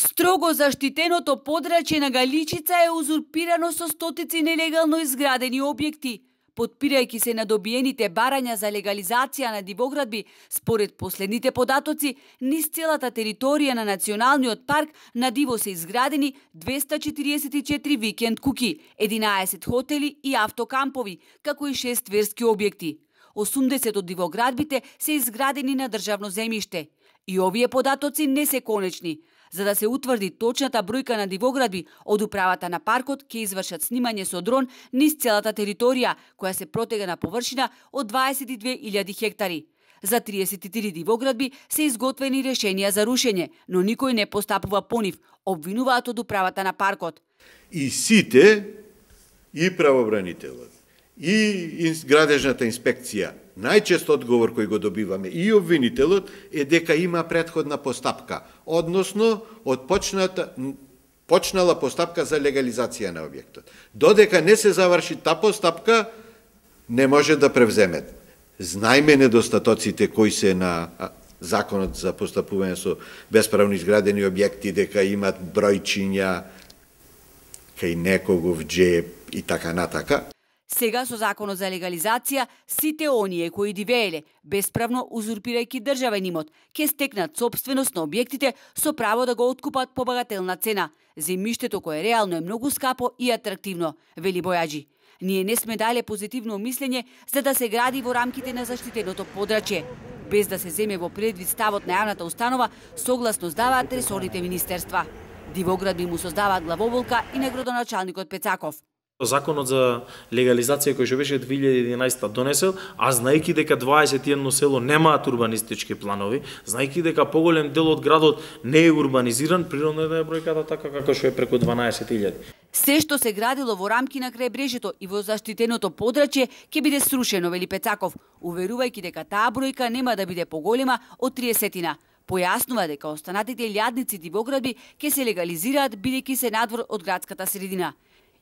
Строго заштитеното подрачје на Галичица е узурпирано со стотици нелегално изградени објекти. Потпирајќи се на добиените барања за легализација на дивоградби, според последните податоци, низ целата територија на Националниот парк на диво се изградени 244 викенд куки, 11 хотели и автокампови, како и 6 верски објекти. 80 од дивоградбите се изградени на државно земјиште. И овие податоци не се конечни. За да се утврди точната бројка на дивоградби, од управата на паркот ќе извршат снимање со дрон низ целата територија, која се протега на површина од 22.000 хектари. За 33 дивоградби се изготвени решенија за рушење, но никој не постапува по нив, обвинуваат од управата на паркот. И сите, и правобранителот, и градежната инспекција, најчест одговор кој го добиваме и обвинителот е дека има претходна постапка, односно почнала постапка за легализација на објектот. Додека не се заврши та постапка, не може да превземет. Знаеме недостатоците кои се на законот за постапување со бесправно изградени објекти, дека имат бројчиња кај некогов джеб и така натака. Сега со законот за легализација, сите оние кои дивееле, бесправно узурпирајќи државен имот, ќе стекнат сопственост на објектите со право да го откупат по багателна цена. Земјиштето кое реално е многу скапо и атрактивно, вели Бојаджи. Ние не сме дале позитивно мислење за да се гради во рамките на заштитеното подрачје, без да се земе во предвид ставот на јавната установа, согласно даваат ресорните министерства. Дивоградби му создаваат главоболка и на градоначалникот Пецаков. Законот за легализација кој што беше 2011 донесел, а знаејќи дека 21 село немаат урбанистички планови, знаејќи дека поголем дел од градот не е урбанизиран, природно е бројката така како што е преку 12.000. Се што се градило во рамки на крајбрежјето и во заштитеното подрачје ќе биде срушено, вели Пецаков, уверувајќи дека таа бројка нема да биде поголема од 30-тина. Појаснува дека останатите илјадници дивоградби ќе се легализираат бидејќи се надвор од градската средина.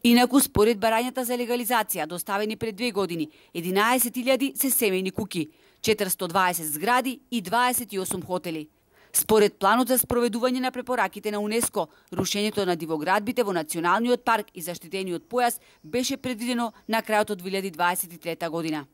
Инаку, според барањата за легализација, доставени пред 2 години, 11.000 се семејни куки, 420 згради и 28 хотели. Според планот за спроведување на препораките на УНЕСКО, рушењето на дивоградбите во Националниот парк и заштитениот појас беше предвидено на крајот од 2023 година.